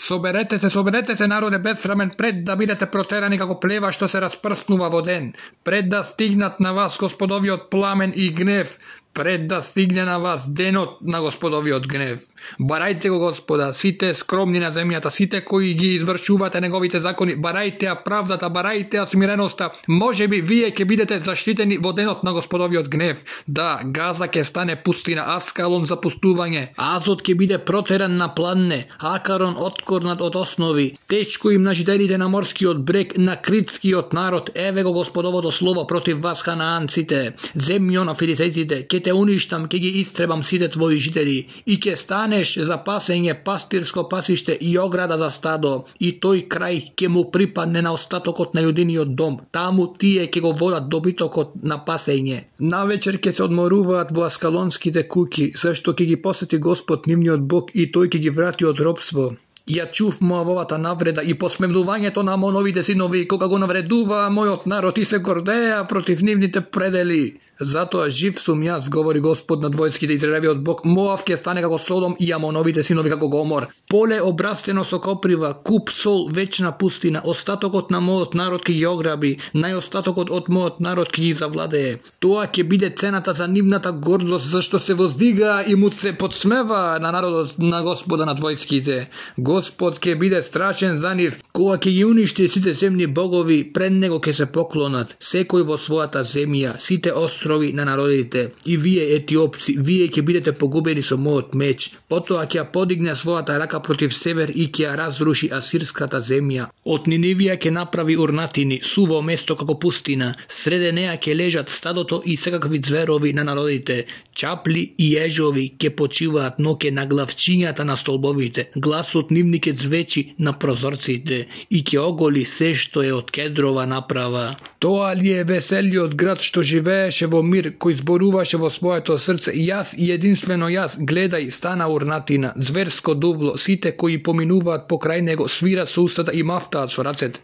Соберете се, народе безсрамен, пред да бидете протерани како плева што се распрснува во ден, пред да стигнат на вас Господовиот пламен и гнев, пред да стигне на вас денот на Господовиот гнев. Барајте го Господа, сите скромни на земјата, сите кои ги извршувате неговите закони, барајте ја правдата, барајте ја смиреноста. Можеби вие ќе бидете заштитени во денот на Господовиот гнев. Да, Газа ќе стане пустина, Аскалон за пустување, Азот ќе биде протеран на планне, Акарон откорнат од основи. Тешко им на жителите на морскиот брег, на критскиот народ. Еве го Господовото слово против вас, ханаанците. Земјо на филисејците, ќе те уништам, ќе ги истребам сите твои жители и ќе станеш за пасење, пастирско пасиште и ограда за стадо, и тој крај ќе му припадне на остатокот на јудиниот дом. Таму тие ќе го водат добитокот на пасење. Навечер ќе се одморуваат во аскалонските куќи, зашто ќе ги посети Господ нивниот Бог и тој ќе ги врати од робство. Ја чув Моавовата навреда и посмевнувањето на Амоновите синови, кога го навредува мојот народ и се гордеа против нивните предели. Затоа жив сум јас, говори Господ над војските, Израелевиот Бог. Моав ќе стане како Содом и Амоновите синови како Гомор. Поле обрастено со коприва, куп сол, вечна пустина. Остатокот на мојот народ ќе ги ограби, најостатокот од мојот народ ќе ги завладее. Тоа ќе биде цената за нивната гордост, зашто се воздига и му се подсмева на народот на Господа над војските. Господ ќе биде страшен за нив, кога ќе ги уништи сите земни богови, пред него ќе се поклонат, секој во својата земја, сите острови на народите. И вие етиопци, вие ќе бидете погубени со мојот меч. Потоа ќе подигне својата рака против север и ќе ја разруши асирската земја. Од Нинивија ќе направи урнатини, суво место како пустина. Среде неа ќе лежат стадото и секакви зверови на народите. Чапли и ежови ќе почиваат, но ќе наглавчињата на столбовите. Гласот нивни ќе звечи на прозорците и ќе оголи се што е од кедрова направа. Тоа ли е веселиот град што живееше во мир, кој зборуваше во своето срце: јас и единствено јас, гледај, стана урнатина, зверско дувло, сите кои поминуваат покрај него свират со устата и мафтаат со рацете.